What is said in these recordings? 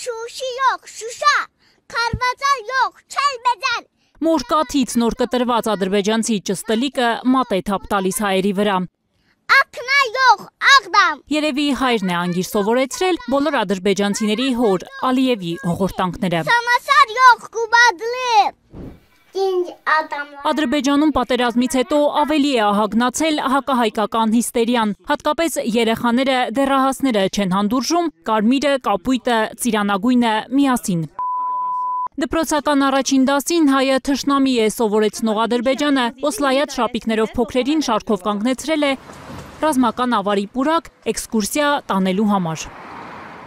Շուշի յող, շուշա, քարվածար յող, չել մեծան։ Մոր կաթից նոր կտրված ադրբեջանցի ճստլիկը մատ է թափ տալիս հայերի վրա։ Ակնա յող, աղդամ։ Երևի հայրն է անգիր սովորեցրել բոլոր ադրբեջանցիների հոր Ալիևի հողորտանքները։ Սամասար յող, կուբադլի։ Ադրբեջանում պատերազմից հետո ավելի է ահագնացել հակահայկական հիստերիան, հատկապես երեխաները, դեռահասները չեն հանդուրժում կարմիրը, կապույտը, ծիրանագույնը միասին։ Դպրոցական առաջին դասին հայը թշնամի է սովորեցնող Ադրբեջանը Օսլայաթ շապիկներով փոքրերին շարքով կանգնեցրել է ռազմական ավարի պուրակ էքսկուրսիա տանելու համար։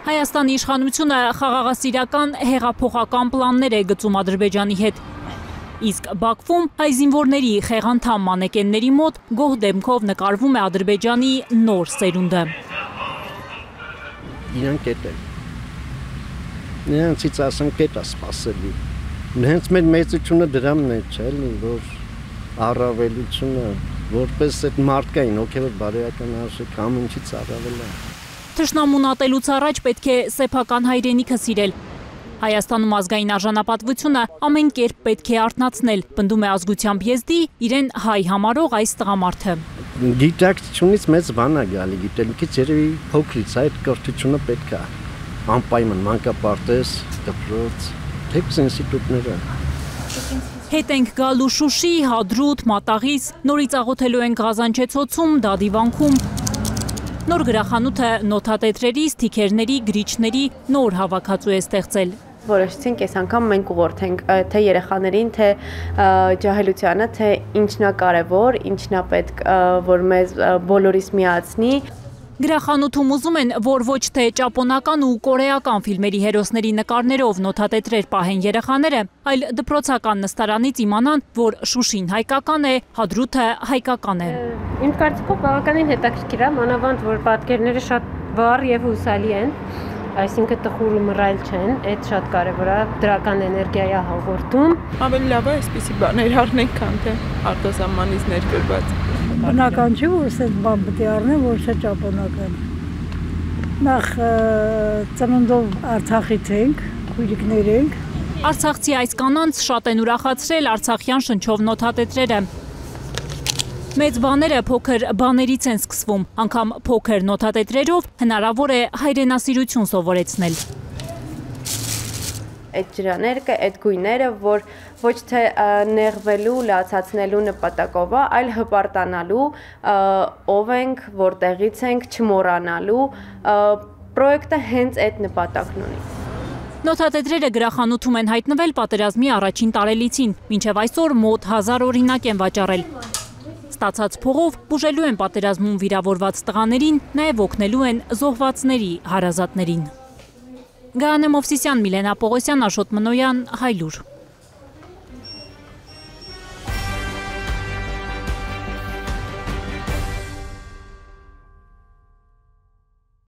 Հայաստանի իշխանությունը խաղաղասիրական հեղափոխական պլաններ է գծում Ադրբեջանի հետ։ Իսկ Բաքվում հայ զինվորների խեղանդամ մանեկենների մոտ գոհ դեմքով նկարվում է Ադրբեջանի նոր սերունդը։ Իրան կետ է։ Նրանցից ասեմ կետ է սպասելի։ Հենց մեր մեծությունը դրամն է, չէ՞, որ առավելությունը, որպես այդ մարդկային հոգևոր բարոյական արժեք ամեն ինչից առավել է։ Թշնամուն ատելուց առաջ պետք է սեփական հայրենիքը սիրել։ Հայաստանում ազգային արժանապատվությունը ամեն կերպ պետք է արթնացնել, պնդում է ազգությամբ եզդի իրեն հայ համարող այս տղամարդը։ Գիտակցությունից մեծ բան է գալի, գիտելիքից երևի փոքրից այդ կրթությունը պետք է անպայման մանկապարտեզ, դպրոց, թեկուզ ինստիտուտները։ Հետ ենք գալու Շուշի, Հադրութ, Մատաղից, նորից աղոթելու ենք Ղազանչեցոցում, Դադիվանքում։ Նոր գրախանութը նոթատետրերի, սթիքերների, գրիչների նոր հավաքածու է ստեղծել։ Որոշեցինք այս անգամ մենք ուղղորդենք թե երեխաներին, թե ջահելությանը, թե ինչն է կարևոր, ինչն է պետք, որ մեզ բոլորիս միացնի։ Գրախանութում ուզում են, որ ոչ թե ճապոնական ու կորեական ֆիլմերի հերոսների նկարներով նոթատետրեր պահեն երեխաները, այլ դպրոցական նստարանից իմանան, որ Շուշին հայկական է, Հադրութը հայկական է։ Իմ կարծիքով բավականին հետաքրքիր է, մանավանդ որ պատկերները շատ վառ եւ հուսալի են, այսինքն տխուր ու մռայլ չեն, այդ շատ կարևոր է, դրական էներգիա է հաղորդում։ Ավելի լավ է այսպիսի բաներ առնենք, քան թե արտասահմանից ներկրված։ Բնական չի, որ սենց բան պետք է առնեմ, որ չէ ճապոնական։ Նախ ծննդով Արցախից ենք, քույրիկներ ենք։ Արցախցի այս կանանց շատ են ուրախացրել արցախյան շնչով նոթատետրերը։ Մեծ բաները փոքր բաներից են սկսվում, անգամ փոքր նոթատետրերով հնարավոր է հայրենասիրություն սովորեցնել։ Այդ ջրաներկը, այդ գույները, որ ոչ թե նեղվելու, լացացնելու նպատակով է, այլ հպարտանալու, ով ենք, որտեղից ենք, չմոռանալու, պրոյեկտը հենց այդ նպատակն ունի։ Նոթատետրերը գրախանութում են հայտնվել պատերազմի առաջին տարելիցին, մինչև այսօր մոտ 1000 օրինակ են վաճառել։ Ստացած փողով բուժելու են պատերազմում վիրավորված տղաներին, նաև օգնելու են զոհվածների հարազատներին։ Գայանե Մովսիսյան, Միլենա Պողոսյան, Աշոտ Մնոյան, Հայլուր։